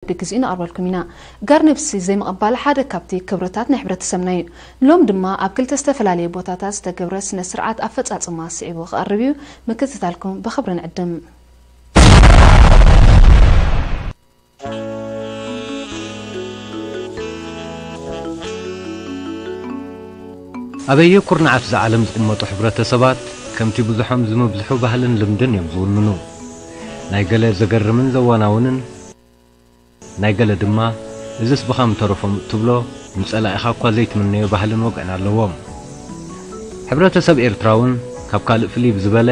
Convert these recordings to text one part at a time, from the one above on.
ብግዜኡ ነቕርበልኩም ኢና። ጋር ነብሲ ዘይምቕባል ሓደ ካብቲ ክብርታት ናይ ሕብረተሰብና እዩ። ሎም ድማ ኣብ ክልተ ዝተፈላለየ ቦታታት ዝተገብረ ስነ ስርዓት ኣፈጻጽማ ስዒቡ ክቐርብ እዩ። ምክትታልኩም ብኽብሪ ንዕድም። ኣበየ ኩርናዓት እዛ ዓለም ዝቕመጡ ሕብረተሰባት ከምቲ ብዙሖም ዝምብዝሑ ባህልን ልምድን እዮም ዝውንኑ። ናይ ገለ ዘገርምን ዘዋናውንን፣ ናይ ገለ ድማ እዝስ ብኻም ተረፎም እትብሎ ንጸላኢኻ እኳ ዘይትምነዮ ባህልን ወግዕን ኣለዎም። ሕብረተሰብ ኤርትራ እውን ካብ ካልእ ፍልይ ብዝበለ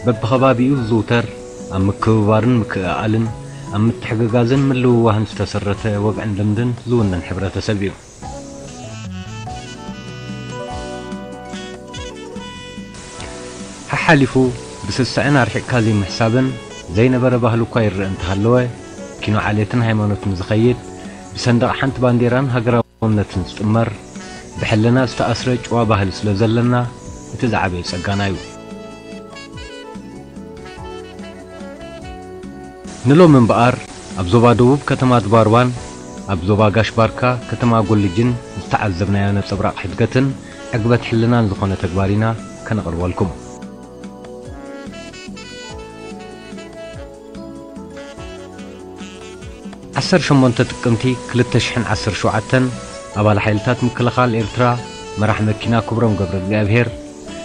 በብኸባቢኡ ዝዝውተር ኣብ ምክብባርን ምክእኣልን ኣብ ምትሕግጋዝን ምልውዋህን ዝተሰረተ ወግዕን ልምድን ዝውንን ሕብረተሰብ እዩ። ሓሓሊፉ ብስስዐን ኣርሒቕካ ዘይምሕሳብን ዘይነበረ ባህሊ እኳ ይረአ እንተሃለወ፣ ኪኖ ዓሌትን ሃይማኖትን ዝኸይድ፣ ብሰንደቕ ሓንቲ ባንዴራን ሃገራውነትን ዝጥመር፣ ብሕልና ዝተኣስረ ጭዋ ባህሊ ስለ ዘለና፣ እቲ ዝዓበየ ጸጋና እዩ። ንሎሚ እምበኣር፣ ኣብ ዞባ ደቡብ ከተማ ድባርባን ኣብ ዞባ ጋሽ ባርካ ከተማ ጎልጅን ዝተዓዘብናዮ ነጸብራቕ ሕድገትን ዕግበት ሕልናን ዝኾነ ተግባር ኢና ከነቕርበልኩም። ዓሰርተ ሸሞንተ ጥቅምቲ ክልተ ሽሕን ዓሰርተ ሸውዓተን ኣባል ሓይልታት ምክልኻል ኤርትራ መራሕ መኪና ክብሮም ገብረ እግዚኣብሔር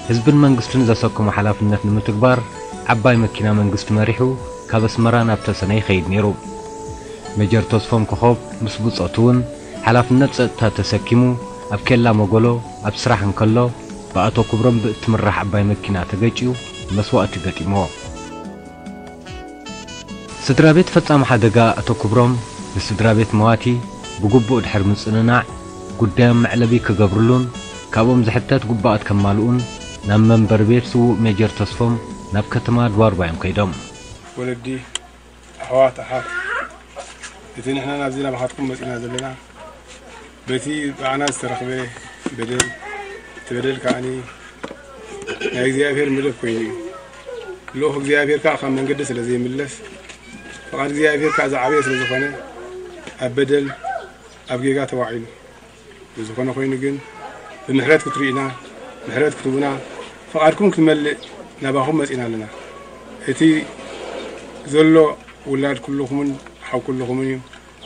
ህዝብን መንግስትን ዘሰከሞ ሓላፍነት ንምትግባር ዓባይ መኪና መንግስቲ መሪሑ ካብ ኣስመራ ናብ ተሰነ ይኸይድ ነይሩ። ሜጀር ተስፎም ኮኾብ ምስ ብጾቱ እውን ሓላፍነት ጸጥታ ተሰኪሙ ኣብ ኬላ መጎሎ ኣብ ስራሕ እንከሎ ብኣቶ ክብሮም ብእትምራሕ ዓባይ መኪና ተገጭዩ መስዋእቲ ገጢምዎ። ስድራ ቤት ፈጻሚ ሓደጋ ኣቶ ክብሮም ንስድራ ቤት መዋቲ ብግቡእ ድሕሪ ምጽንናዕ፣ ጉዳዮም መዕለቢ ክገብርሉን ካብኦም ዝሕተት ግቡኣት ከማልኡን ናብ መንበሪ ቤት ስዉእ ሜጀር ተስፎም ናብ ከተማ ድባርባ እዮም ከይዶም። ወለዲ፣ ኣሕዋት፣ ኣሓት፣ እቲ ንሕና ናብዚ ናባኻትኩም መጺና ዘለና በቲ ብኣና ዝተረኽበ በደል፣ እቲ በደል ከኣኒ ናይ እግዚኣብሔር መደብ ኮይኑ እዩ። ልኡኽ እግዚኣብሔር ከኣ ካብ መንገዲ ስለ ዘይምለስ፣ ፍቓድ እግዚኣብሔር ከኣ ዝዓበየ ስለ ዝኾነ፣ ኣብ በደል፣ ኣብ ጌጋ ተዋዒሉ። ብዝኾነ ኮይኑ ግን፣ ብምሕረት ክትርእዩና፣ ምሕረት ክትህቡና፣ ፍቓድኩም ክትመልእ ናባኹም መጺና ኣለና። እቲ ዘሎ ውላድ ኩልኹምን ሓው ኩልኹምን እዩ።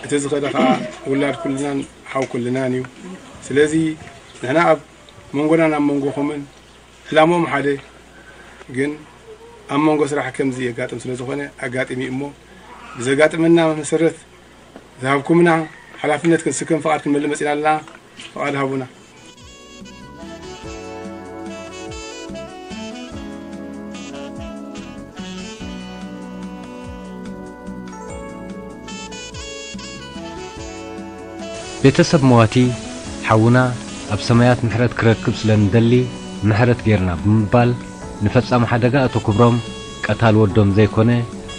እቲ ዝኸደ ኸዓ ውላድ ኩልናን ሓው ኩልናን እዩ። ስለዚ ንሕና ኣብ መንጎናን ኣብ መንጎኹምን ዕላምኦም ሓደ፣ ግን ኣብ መንጎ ስራሕ ከምዚ የጋጥም ስለ ዝኾነ ኣጋጢሙ እዩ እሞ፣ ብዘጋጥመና መሰረት ዝሃብኩምና ሓላፍነት ክንስከም ፍቓድ ክንመልእ መጺና ኣለና። ፍቓድ ሃቡና። ቤተሰብ መዋቲ ሓውና ኣብ ሰማያት ምሕረት ክረክብ ስለ እንደሊ ምሕረት ጌርና ብምባል ንፈጻሚ ሓደጋ ኣቶ ክብሮም ቀታል ወዶም ዘይኮነ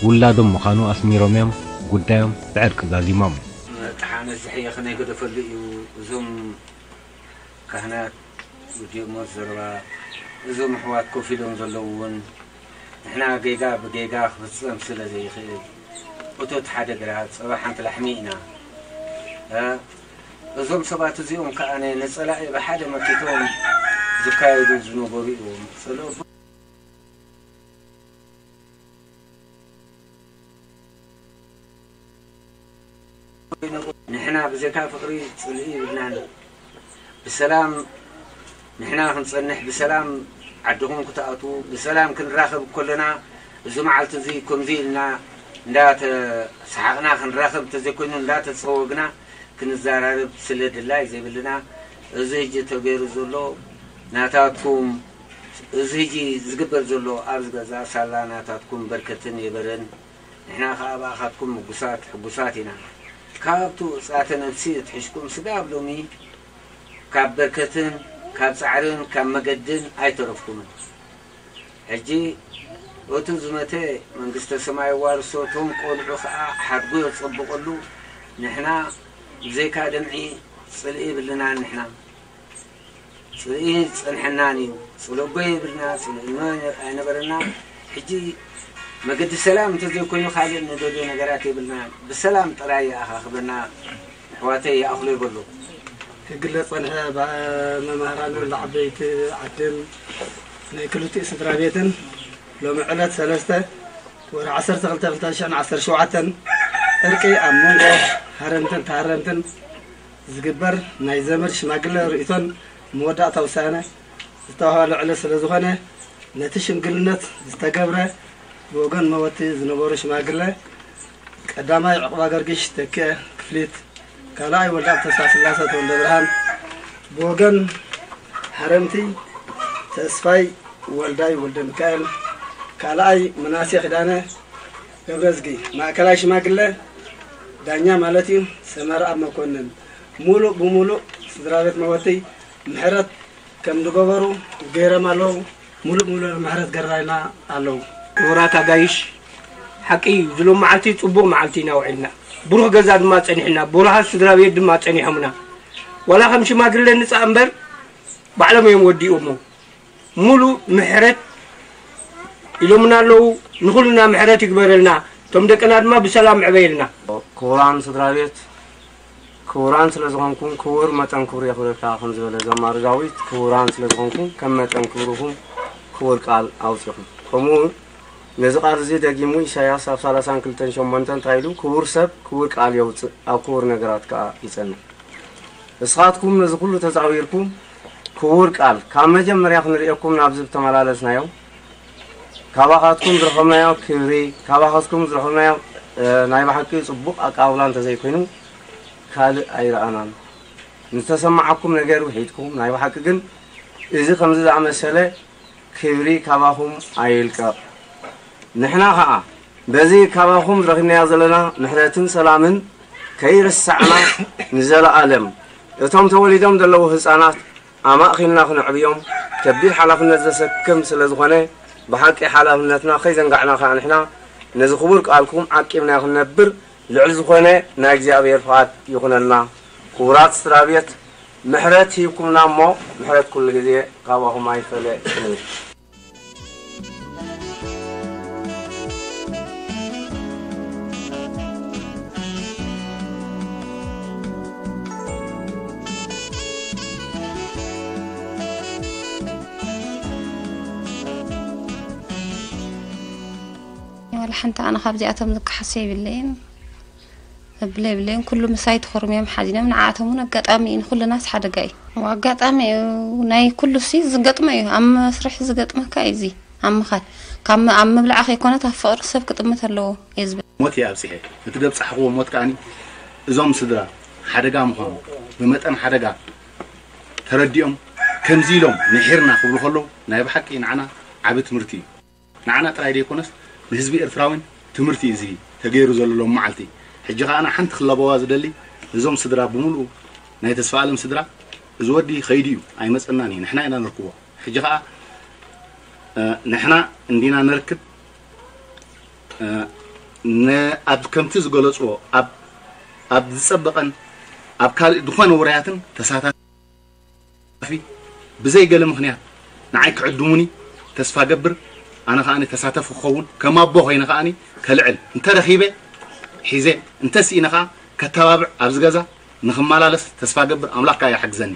ውላዶም ምዃኑ ኣስሚሮም እዮም ጉዳዮም ብዕርቂ ዛዚሞም። መጥሓነት ዝሕየኽ ናይ ገደፈሉ እዩ። እዞም ካህናት ወዲኦሞ ዘረባ፣ እዞም ኣሕዋት ኮፍ ኢሎም ዘለዉ እውን ንሕና ጌጋ ብጌጋ ክፍጸም ስለ ዘይኽእል፣ እቶት ሓደ ግራት ጸባ ሓንቲ ላሕሚ ኢና። እ፣ እዞም ሰባት እዚኦም ከኣ ንጸላኢ ብሓደ መኪቶም ዝካየዱ ዝነበሩ እዮም። ጸሎት ንሕና ብዘይካ ፍቕሪ ጽልኢ ይብልናን። ብሰላም ንሕና ክንጸንሕ፣ ብሰላም ዓድኹም ክትኣትዉ፣ ብሰላም ክንራኸብ ከለና፣ እዚ መዓልቲ እዚ ከምዚ ኢልና እንዳተሰሓቕና ክንራኸብ እንተዘይኮይኑ፣ እንዳተጸወግና ክንዘራረብ ስለ ድላይ ዘይብልና፣ እዚ ሕጂ ተገይሩ ዘሎ ናታትኩም፣ እዚ ሕጂ ዝግበር ዘሎ ኣብዚ ገዛ ሳላ ናታትኩም በርከትን የበረን። ንሕና ኸኣ ብኣኻትኩም ምጉሳት ሕጉሳት ኢና። ካብቲ ውጽኣተ ነፍሲ ኣትሒዝኩም ስጋብ ሎሚ ካብ በርከትን ካብ ጻዕርን ካብ መገድን ኣይተረፍኩምን። ሕጂ እቱ ዝመተ መንግስተ ሰማይ ዋርሶ፣ እቶም ቆልዑ ኸኣ ሓድጎ የጸብቐሉ። ንሕና ብዘይካ ደምዒ ጽልኢ የብልናን። ንሕና ጽልኢ ጸንሐናን እዩ። ጽለጎ የብልና፣ ጽልእኖ ኣይነበረና። ሕጂ መገዲ ሰላም እንተዘይኮይኑ ካልእ ንደልዮ ነገራት የብልና። ብሰላም ጥራይ ይኣኻኽበና። ኣሕዋተይ ይኣኽሎ ይበሉ። ክግለጽ ጸንሐ፣ ባ-፣ መማህራንን ለዓበይቲ ዓድን ናይ ክልቲኡ ስድራ ቤትን ሎሚ ዕለት ሰለስተ ወርሒ ዓሰርተ ክልተ ክልተ ሽሕን ዓሰርተ ሸውዓተን ዕርቂ ኣብ መንጎ ሃረምትን ተሃረምትን ዝግበር ናይ ዘመድ ሽማግለ ርእይቶን መወዳእታ ውሳነ ዝተዋህበሉ ዕለት ስለ ዝኾነ፣ ነቲ ሽምግልነት ዝተገብረ ብወገን መወቲ ዝነበሩ ሽማግለ፣ ቀዳማይ ዕቑባ ገርጊሽ ተኪኤ ክፍሊት፣ ካልኣይ ወልደኣብ ተስፋስላሰ ተወልደ ብርሃን፣ ብወገን ሃረምቲ ተስፋይ ወልዳይ ወልደ ሚካኤል፣ ካልኣይ ምናሴ ኪዳነ ገብረዝጊ፣ ማእከላይ ሽማግለ ዳኛ ማለት እዩ ሰመረኣብ መኮንን፣ ሙሉእ ብሙሉእ ስድራ ቤት መወቲ ምሕረት ከም ዝገበሩ ገይሮም ኣለዉ። ሙሉእ ብሙሉእ ምሕረት ገራይና ኣለዉ። ክቡራት ኣጋይሽ፣ ሓቂ እዩ፣ ዝሎም መዓልቲ ጽቡቕ መዓልቲ ኢና ውዒልና፣ ብሩኽ ገዛ ድማ ጸኒሕና፣ ብሩሃት ስድራ ቤት ድማ ጸኒሖምና። ዋላ ከም ሽማግለ ንጻእ እምበር ባዕሎም እዮም ወዲኦሞ። ሙሉእ ምሕረት ኢሎምና ኣለዉ። ንኹልና ምሕረት ይግበረልና፣ እቶም ደቅና ድማ ብሰላም ዕበየልና። ክቡራን ስድራ ቤት፣ ክቡራን ስለ ዝኾንኩም ክቡር መጠን ክብሩ የኽብረካ ከም ዝበለ ዘማሪ ዳዊት፣ ክቡራን ስለ ዝኾንኩም ከም መጠን ክብርኹም ክቡር ቃል ኣውጺኹም። ከምኡ እውን ነዚ ቃል እዚ ደጊሙ ኢሳያስ ኣብ ሰላሳን ክልተን ሸሞንተን እንታይ ኢሉ? ክቡር ሰብ ክቡር ቃል የውጽእ፣ ኣብ ክቡር ነገራት ከኣ ይጸንዕ። ንስኻትኩም ነዚ ኩሉ ተዛዊርኩም ክቡር ቃል ካብ መጀመርያ ክንርእየኩም ናብዚ ዝተመላለስናዮ ካባኻትኩም ዝረኸብናዮ ክብሪ፣ ካባኻትኩም ዝረኸብናዮ፣ እ፣ ናይ ብሓቂ ጽቡቕ ኣቀባብላ እንተዘይኮይኑ ካልእ ኣይረኣናን። ንዝተሰማዓኩም ነገር ውሒድኩም፣ ናይ ብሓቂ ግን እዚ ከምዚ ዝኣመሰለ ክብሪ ካባኹም ኣይልቀቕ። ንሕና ኸኣ በዚ ካባኹም ረኺብናዮ ዘለና ምሕረትን ሰላምን ከይርሳዕና ንዘለኣለም እቶም ተወሊዶም ዘለዉ ህጻናት ኣማእኺልና ክነዕብዮም ከቢድ ሓላፍነት ዘሰክም ስለ ዝኾነ፣ ብሓቂ ሓላፍነትና ከይዘንጋዕና ከኣ ንሕና ነዚ ክቡር ቃልኩም ዓቂብና ክንነብር ልዑል ዝኾነ ናይ እግዚኣብሔር ፍቓድ ይኹነልና። ክቡራት ስድራ ቤት፣ ምሕረት ሂብኩምና እሞ፣ ምሕረት ኩሉ ግዜ ካባኹም ኣይፈለ ክንብል። ዋላ ሓንቲ ኣነ ካብዚኣቶም ዝከሓሶ የብለይን። እብለ የብለይን፣ ኩሉ ምሳይ ተኾርምዮም ሓዚኖም፣ ንዓኣቶም እውን ኣጋጣሚ እዩ፣ ንኹልናስ ሓደጋ እዩ። ኣጋጣሚ እዩ፣ ናይ ኩሉ ሲ ዝገጥሞ እዩ፣ ኣብ መስርሕ ዝገጥመካ እዩ፣ እዚ ኣብ ምኻድ፣ ካብ ም-፣ ኣብ ምብላዕ ከይኮነት ኣብ ፍቕሪ ሰብ ክጥምት ኣለዎ እየ ዝብል። ሞት እየ ኣብፂሐ፣ እቲ ዘብፃሕኽዎ ሞት ከኣኒ እዞም ስድራ ሓደጋ ምዃኑ ብመጠን ሓደጋ ተረዲኦም ከምዚ ኢሎም ንሒርና ክብሉ ከለዉ ናይ ብሓቂ ንዓና ዓቢ ትምህርቲ እዩ። ንዓና ጥራይ ዘይኮነስ ንህዝቢ ኤርትራውን ትምህርቲ እዩ እዚ ተገይሩ ዘሎ ሎም መዓልቲ። ሕጂ ከኣ ኣነ ሓንቲ ክላበዋ ዝደሊ እዞም ስድራ ብምሉኡ ናይ ተስፋ ኣለም ስድራ እዚ ወዲ ከይዱ እዩ ኣይመጸናን እዩ ንሕና ኢና ነርክቦ። ሕጂ ከኣ እ፣ ንሕና እንዲና ነርክብ እ፣ ነ-፣ ኣብ ከምቲ ዝገለጽዎ ኣብ ኣብ ዝጸበቐን ኣብ ካልእ ዝኾነ ውራያትን ተሳታፊ ብዘይ ገለ ምኽንያት ንዓይ ክዕድሙኒ ተስፋ ገብር። ኣነ ከኣ ተሳተፍ ክኸውን ከም ኣቦ ኮይነ ከኣ ከልዕል እንተረኺበ ሒዘ እንተስኢነ ከኣ ከተባብዕ ኣብዚ ገዛ ንኽመላለስ ተስፋ ገብር። ኣምላኽ ከኣ ይሓግዘኒ።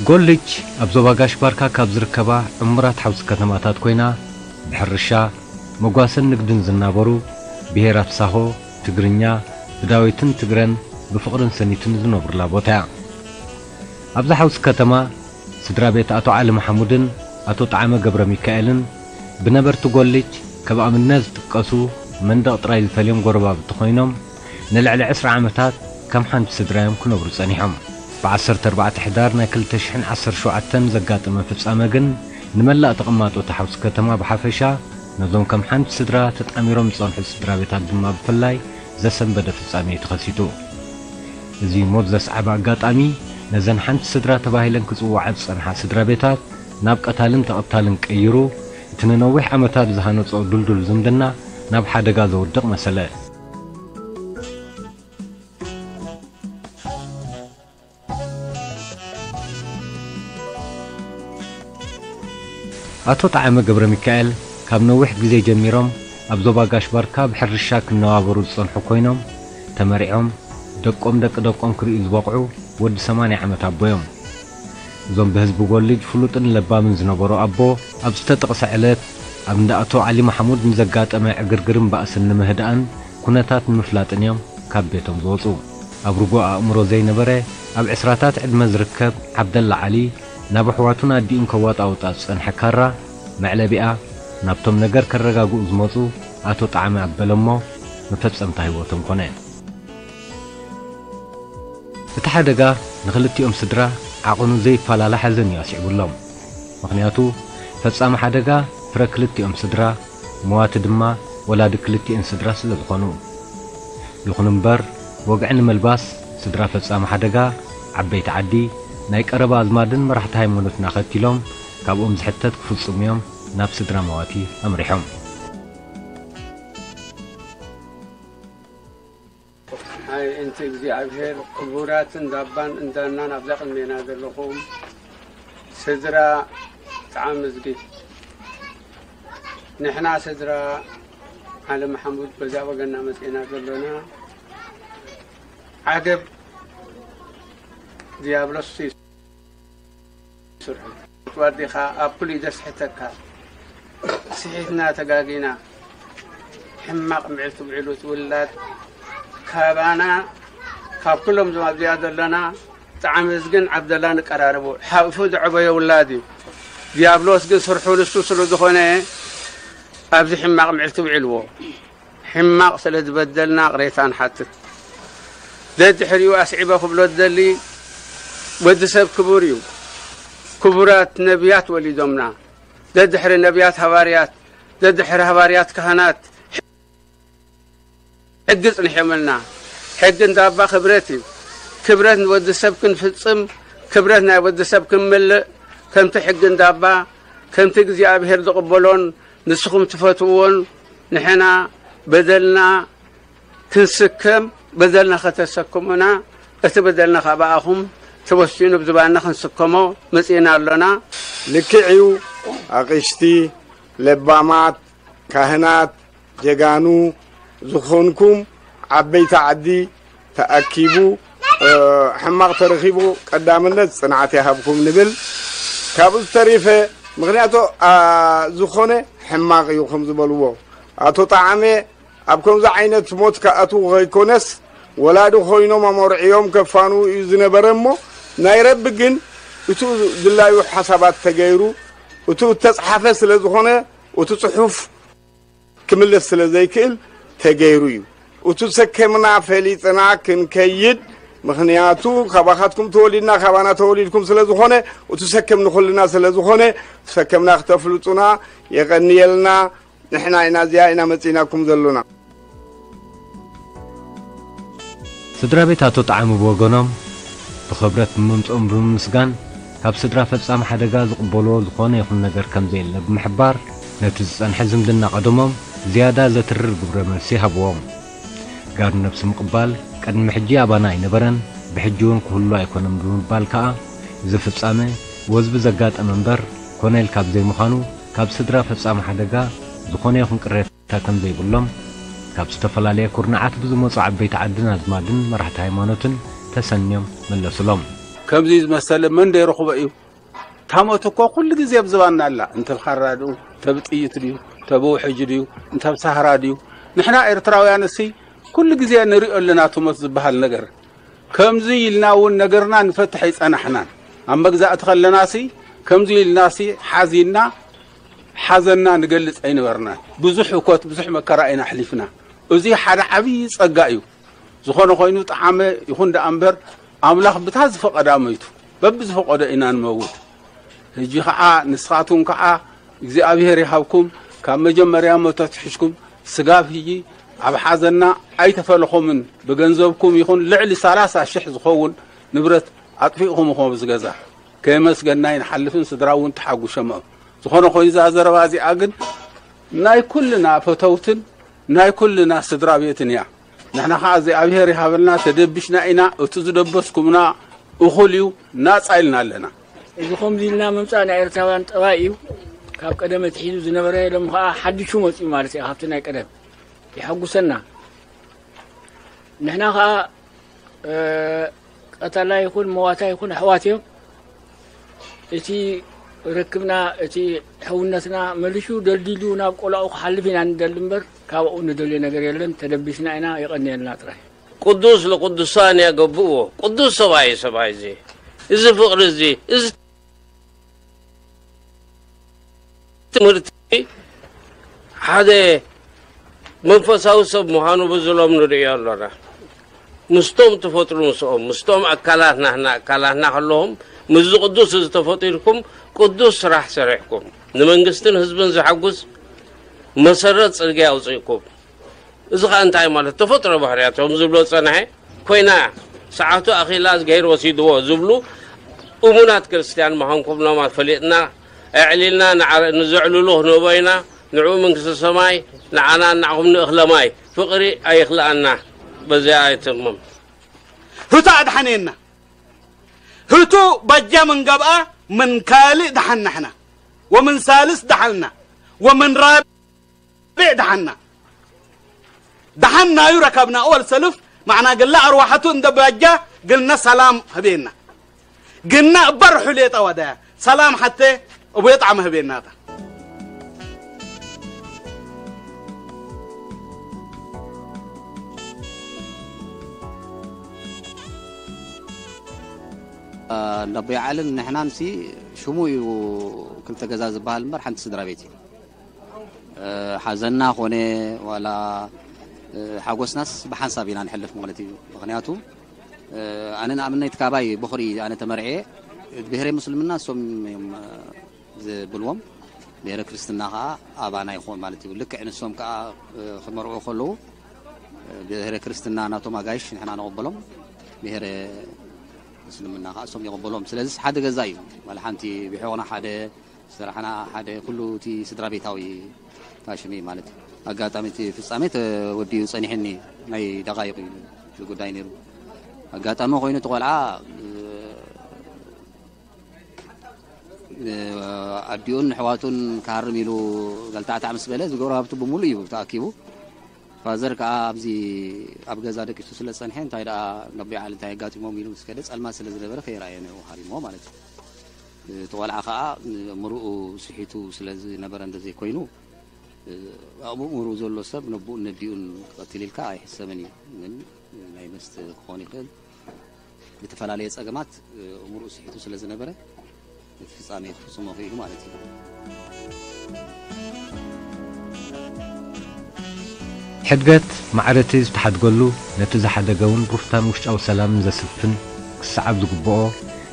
ጎልጅ ኣብ ዞባ ጋሽ ባርካ ካብ ዝርከባ ዕሙራት ሓውሲ ከተማታት ኮይና፣ ብሕርሻ፣ መጓሰን ንግድን ዝናበሩ ብሄራት ሳሆ፣ ትግርኛ፣ ብዳዊትን ትግረን ብፍቕርን ሰኒትን ዝነብሩላ ቦታ እያ። ኣብዛ ሓውሲ ከተማ፣ ስድራ ቤት ኣቶ ዓሊ መሓሙድን ኣቶ ጠዓመ ገብረ ሚካኤልን ብነበርቲ ጎልጅ ከም ኣብነት ዝጥቀሱ መንደቕ ጥራይ ዝፈልዮም ጎረባብቲ ኮይኖም፣ ንልዕሊ ዕስራ ዓመታት ከም ሓንቲ ስድራ እዮም ክነብሩ ጸኒሖም። ብ ዓሰርተ ኣርባዕተ ሕዳር ናይ ክልተ ሽሕን ዓሰርተ ሸውዓተን ዘጋጠመ ፍጻመ ግን ንመላእ ተቐማጦ እቲ ሓውሲ ከተማ ብሓፈሻ፣ ነዞም ከም ሓንቲ ስድራ ተጣሚሮም ዝጸንሑ ስድራ ቤታት ድማ ብፍላይ ዘሰንበደ ፍጻመ እዩ ተኸሲቱ። እዚ ሞት ዘስዓበ ኣጋጣሚ ነዘን ሓንቲ ስድራ ተባሂለን ክጽውዓ ዝጸንሓ ስድራ ቤታት ናብ ቀታልን ተቐታልን ቀይሩ፣ እቲ ንነዊሕ ዓመታት ዝሃነጾ ድልዱል ዝምድና ናብ ሓደጋ ዘውድቕ መሰለ። ኣቶ ጠዓመ ገብረ ሚካኤል ካብ ነዊሕ ግዜ ጀሚሮም ኣብ ዞባ ጋሽ ባርካ ብሕርሻ ክነባበሩ ዝጸንሑ ኮይኖም፣ ተመሪዖም ደቆም ደቂ ደቆም ክርእዩ ዝበቕዑ ወዲ ሰማንያ ዓመት ኣቦ እዮም። እዞም ብህዝቢ ጎልጅ ፍሉጥን ለባምን ዝነበሩ ኣቦ፣ ኣብ ዝተጠቕሰ ዕለት ኣብ እንዳ ኣቶ ዓሊ ማሕሙድ ንዘጋጠመ ዕግርግርን ባእስን ንምህዳእን ኩነታት ንምፍላጥን እዮም ካብ ቤቶም ዝወጹ። ኣብ ርጉእ ኣእምሮ ዘይነበረ፣ ኣብ ዕስራታት ዕድመ ዝርከብ ዓብደላ ዓሊ፣ ናብ ኣሕዋቱን ኣዲኡን ከዋጣውጣ ዝጸንሐ ካራ መዕለቢኣ ናብቶም ነገር ከረጋግኡ ዝመጹ ኣቶ ጠዓመ ኣበለ እሞ፣ መፈጸምታ ህይወቶም ኮነ። እቲ ሓደጋ ንኽልቲኦም ስድራ ዓቐኑ ዘይፈላለ ሓዘን እዩ ኣስዒቡሎም። ምኽንያቱ፣ ፈጻሚ ሓደጋ ፍረ ክልቲኦም ስድራ፣ መዋቲ ድማ ወላዲ ክልቲኤን ስድራ ስለ ዝኾኑ። ይኹን እምበር፣ ወግዒ ንምልባስ፣ ስድራ ፈጻሚ ሓደጋ፣ ዓበይቲ ዓዲ፣ ናይ ቀረባ ኣዝማድን መራሕቲ ሃይማኖትን ኣኸቲሎም፣ ካብኦም ዝሕተት ክፍጽሙ እዮም ናብ ስድራ መዋቲ ኣምሪሖም። ኣይ፣ እንቲ እግዚኣብሔር፣ ክቡራት እንዳባን እንዳናን ኣብዛ ቅድሜና ዘለኹም ስድራ ጠዓመ ዝጊ፣ ንሕና ስድራ ዓሊ መሓሙድ በዛ ወገንና መጺእና ዘሎና፣ ዓገብ ዲያብሎስ እዩ ስርሑ። ወዲኻ ኣብ ኩሉ እዩ ዘስሕተካ። ስሒትና ተጋጊና፣ ሕማቕ ምዕልቲ ውዒሉ እቲ ውላድ ካባና፣ ካብ ኩሎም እዞም ኣብዚኣ ዘለና፣ ጠዓመ ዝግን ዓብደላ ንቀራረቦ። ሓቑፉ ዝዐበዮ ውላድ እዩ። ዲያብሎስ ግን ስርሑ ንሱ ስለ ዝኾነ፣ ኣብዚ ሕማቕ ምዕልቲ ውዒልዎ። ሕማቕ ስለ ዝበደልና ቅሬታ ንሓትት። ደድሕሪኡ ኣስዒበ ክብሎ ዝደሊ፣ ወዲ ሰብ ክቡር እዩ። ክቡራት ነቢያት ወሊዶምና። ደድሕሪ ነቢያት ሃዋርያት፣ ደድሕሪ ሃዋርያት ካህናት፣ ሕጊ ጽኒሖምልና። ሕጊ እንዳባ ክብረት እዩ። ክብረት ንወዲ ሰብ ክንፍጽም፣ ክብረት ናይ ወዲ ሰብ ክንምልእ፣ ከምቲ ሕጊ እንዳባ፣ ከምቲ እግዚኣብሔር ዝቕበሎን ንስኹም ትፈትውዎን፣ ንሕና በደልና ክንስከም፣ በደልና ከተሰክሙና፣ እቲ በደልና ካባኣኹም ተወሲኑ ብዝባንና ክንስከሞ መጺእና ኣሎና። ልክዕ እዩ። ኣቕሽቲ፣ ለባማት፣ ካህናት፣ ጀጋኑ ዝኾንኩም ዓበይቲ ዓዲ ተኣኪቡ፣ እ፣ ሕማቕ ተረኺቡ ቀዳምነት ጽንዓት ይሃብኩም ንብል። ካብኡ ዝተሪፈ፣ ምኽንያቱ፣ ኣ፣ ዝኾነ ሕማቕ እዩ ከም ዝበልዎ ኣቶ ጠዓመ፣ ኣብ ከምዚ ዓይነት ሞት ክኣትዉ ከይኮነስ፣ ወላዲ ኮይኖም ኣመርዕዮም ከፋንዉ እዩ ዝነበረ እሞ፣ ናይ ረቢ ግን እቱ ድላዩ ሓሳባት ተገይሩ፣ እቱ እተጽሓፈ ስለ ዝኾነ፣ እቱ ጽሑፍ ክምለስ ስለ ዘይክእል ተገይሩ እዩ። እቱ ሰከምና ፈሊጥና ክንከይድ፣ ምኽንያቱ ካባኻትኩም ተወሊድና፣ ካባና ተወሊድኩም ስለ ዝኾነ፣ እቱ ሰከም ንኹልና ስለ ዝኾነ፣ እቱ ሰከምና ክተፍልጡና የቐንየልና። ንሕና ኢና እዚኣ ኢና መጺእናኩም ዘሎና። ስድራ ቤት ኣቶ ጠዓሙ ብወገኖም፣ ብኽብረት ብምምጽኦም ብምምስጋን፣ ካብ ስድራ ፈጻሚ ሓደጋ ዝቕበልዎ ዝኾነ ይኹን ነገር ከም ዘየለ ብምሕባር፣ ነቲ ዝጸንሐ ዝምድና ቀደሞም ዝያዳ ዘትርር ግብረ መልሲ ሃብዎም። ጋር ነብሲ ምቕባል ቅድሚ ሕጂ ኣባና ኣይነበረን፣ ብሕጂ እውን ክህሉ ኣይኮነን ብምባል ከኣ፣ እዚ ፍጻመ ወዝቢ ዘጋጠመ እምበር፣ ኮነ ኢልካ ብዘይምዃኑ፣ ካብ ስድራ ፈጻሚ ሓደጋ ዝኾነ ይኹን ቅሬታ ከም ዘይብሎም፣ ካብ ዝተፈላለየ ኩርናዓት ብዝመጹ ዓበይቲ ዓድን ኣዝማድን መራሕቲ ሃይማኖትን ተሰንዮም መለሱሎም። ከምዚ ዝመሰለ መን ደይረኽቦ እዩ? ታሞት እኮ ኩሉ ግዜ ኣብ ዝባንና ኣላ። እንተ ብኻራ ድዩ፣ እንተ ብጥይት ድዩ፣ እንተ ብውሕጅ ድዩ፣ እንተ ብሳህራ ድዩ? ንሕና ኤርትራውያን እሲ ኩሉ ግዜ ንሪኦ ኣለና እቲ ሞት ዝበሃል ነገር። ከምዚ ኢልና እውን ነገርና ንፈትሕ ኣይጸናሕናን። ኣብ መግዛእቲ ከለናሲ ከምዚ ኢልናሲ ሓዚንና ሓዘንና ንገልጽ ኣይነበርናን። ብዙሕ ህኮት፣ ብዙሕ መከራ ኢና ኣሕሊፍና። እዚ ሓደ ዓብዪ ጸጋ እዩ። ዝኾነ ኮይኑ ጠዓመ ይኹን ደኣ እምበር ኣምላኽ ብታ ዝፈቐዳ መይቱ፣ በብዝፈቐዶ ኢና ንመውት። ሕጂ ኸዓ ንስኻትኩም ከኣ እግዚኣብሔር ይሃብኩም፣ ካብ መጀመርያ ሞት ኣትሒዝኩም ስጋብ ሕጂ ኣብ ሓዘንና ኣይተፈለኹምን። ብገንዘብኩም ይኹን ልዕሊ ሰላሳ ሽሕ ዝኸውን ንብረት ኣጥፊእኹም ኢኹም ኣብዚ ገዛ። ከየመስገንና ኣይንሓልፍን፣ ስድራ እውን ተሓጒሶም እዮም። ዝኾነ ኮይኑ እዛ ዘረባ እዚኣ ግን ናይ ኩልና ፈተውትን ናይ ኩልና ስድራ ቤትን እያ። ንሕና ኸዓ እግዚኣብሔር ይሃበልና፣ ተደቢሽና ኢና። እቲ ዝደበስኩምና እኹል እዩ፣ ናጻ ኢልና ኣለና። እዚ ከምዚ ኢልና ምምጻእ ናይ ኤርትራውያን ጠባይ እዩ። ካብ ቀደም ኣትሒዙ ዝነበረ ሎም ኸዓ ሓዲሹ መጽኡ ማለት እዩ፣ ካብቲ ናይ ቀደም የሐጉሰና። ንሕና ኸዓ፣ እ፣ ቀታላይ ይኹን መዋታይ ይኹን ኣሕዋት እዮም። እቲ ርክብና፣ እቲ ሕውነትና መሊሹ ደልዲሉ ናብ ቆላኡ ክሓልፍ ኢና ንደሊ እምበር፣ ካብኡ ንደልዮ ነገር የለን። ተደቢስና ኢና፣ የቐንየልና ጥራይ። ቅዱስ ለቅዱሳን ያገብእዎ። ቅዱስ ሰብኣይ፣ ሰብኣይ እዚ፣ እዚ ፍቕሪ እዚ፣ እዚ ትምህርቲ ሓደ መንፈሳዊ ሰብ ምዃኑ ብዝሎም ንርእዮ ኣሎና። ምስቶም ትፈጥሩ ምስኦም፣ ምስቶም ኣካላት ናህና፣ ኣካላትና ከለዎም፣ ምስዚ ቅዱስ እዚ ተፈጢርኩም ቅዱስ ስራሕ ሰሪሕኩም፣ ንመንግስትን ህዝብን ዘሐጉስ መሰረት ጽርግያ ኣውጺእኩም። እዚ ኸኣ እንታይ ማለት? ተፈጥሮ ባህርያቶም ዝብሎ ጸንሐ ኮይና፣ ሰዓቱ ኣኺላ፣ እዝግሄር ወሲድዎ ዝብሉ እሙናት ክርስትያን ምዃንኩም ኖማ ፈሊጥና፣ ኣዕሊልና ንዓረ-፣ ንዘዕልሎ ክንህቦ ኢና። ንዕኡ መንግስተ ሰማይ፣ ንዓና ንዓኹም ንእኽለ ማይ። ፍቕሪ ኣይኽልኣና። በዚኣ ኣይትእመም። ህቱ ኣድሓነና። ህቱ በጃ ምን ገብኣ ምን ካልእ ደሓናሕና ወምን ሳልስ ደሓልና ወምን ራብዕ ደሓና። ደሓን ናዩ ረከብና። ወል ሰልፍ ማዕና ግላ ኣርዋሐቱ እንደ በጃ ግልና ሰላም ህቤና። ግና እበር ሑሌ ጠወደ ሰላም ሐቴ እቡየ ጣዕመ ህቤናታ። እንዳቦይ ዓልን ንሕናን ሲ ሽሙ እዩ ክልተ ገዛ ዝበሃል እምበር ሓንቲ ስድራ ቤት እዩ። እ፣ ሓዘንና ኾነ ዋላ፣ እ፣ ሓጎስናስ ብሓንሳብ ኢና ንሕልፍ ማለት እዩ። ምኽንያቱ፣ እ፣ ኣነ ንኣብነት ካባይ ቦኽሪ ኣነ ተመርዕየ፣ ብሄረ ምስልምና እሶም እዮም፣ እ፣ ዝብልዎም፣ ብሄረ ክርስትና ኸዓ ኣባና ይኾን ማለት እዩ። ልክዕ ንሶም ከኣ፣ እ፣ ክመርዑ ከለዉ፣ እ፣ ብሄረ ክርስትና ናቶም ኣጋይሽ ንሕና ንቕበሎም፣ ብሄረ ምስልምና ኸዓ እሶም ይቕበሎም። ስለዚስ ሓደ ገዛ እዩ። ዋላ ሓንቲ ብሕቖና ሓደ ዝሰራሕና ሓደ ኩሉ እቲ ስድራ ቤታዊ ታሽሚ ማለት እዩ። ኣጋጣሚ እቲ ፍጻሜ ተወዲኡ ጸኒሕኒ ናይ ደቓይቕ እዩ እቲ ጉዳይ ነይሩ። ኣጋጣሚ ኮይኑ እቲ ቆልዓ፣ እ፣ ኣዲኡን ኣሕዋቱን ክሃርም ኢሉ ገልታዕታዕ ምስ በለ ዝገብሮ ሃብቱ ብምሉእ እዩ ተኣኪቡ። ፋዘር ከኣ ኣብዚ ኣብ ገዛ ደቂሱ ስለ ዝጸንሐ፣ እንታይ ደኣ ነቦይ ዓሊ እንታይ ኣጋጢሞም ኢሉ ምስ ከደ፣ ጸልማት ስለ ዝነበረ ከይረኣየ ነው ሃሪሞ ማለት እዩ። እቲ ቆልዓ ከኣ ምሩኡ ስሒቱ ስለ ዝነበረ እንተዘይኮይኑ፣ ኣብ ምሩኡ ዘሎ ሰብ ነቦኡን ነዲኡን ክቐትል ኢልካ ኣይሕሰብን እዩ። ግን ናይ መስተ ክኾን ይኽእል። ብተፈላለየ ጸገማት፣ እ፣ እምርኡ ስሒቱ ስለ ዝነበረ፣ እቲ ፍጻሜ ክፍጽሞ ክኢሉ ማለት እዩ። ሕድገት ማዕረቲ ዝተሓድገሉ፣ ነቲ ዝሓደገ እውን ሩፍታን ውሽጣዊ ሰላምን ዘስፍን ክሰዓብ ዝግብኦ፣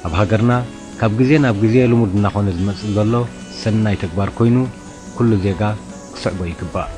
ኣብ ሃገርና ካብ ግዜ ናብ ግዜ ልሙድ እናኾነ ዝመጽእ ዘሎ ሰናይ ተግባር ኮይኑ፣ ኩሉ ዜጋ ክስዕቦ ይግባእ።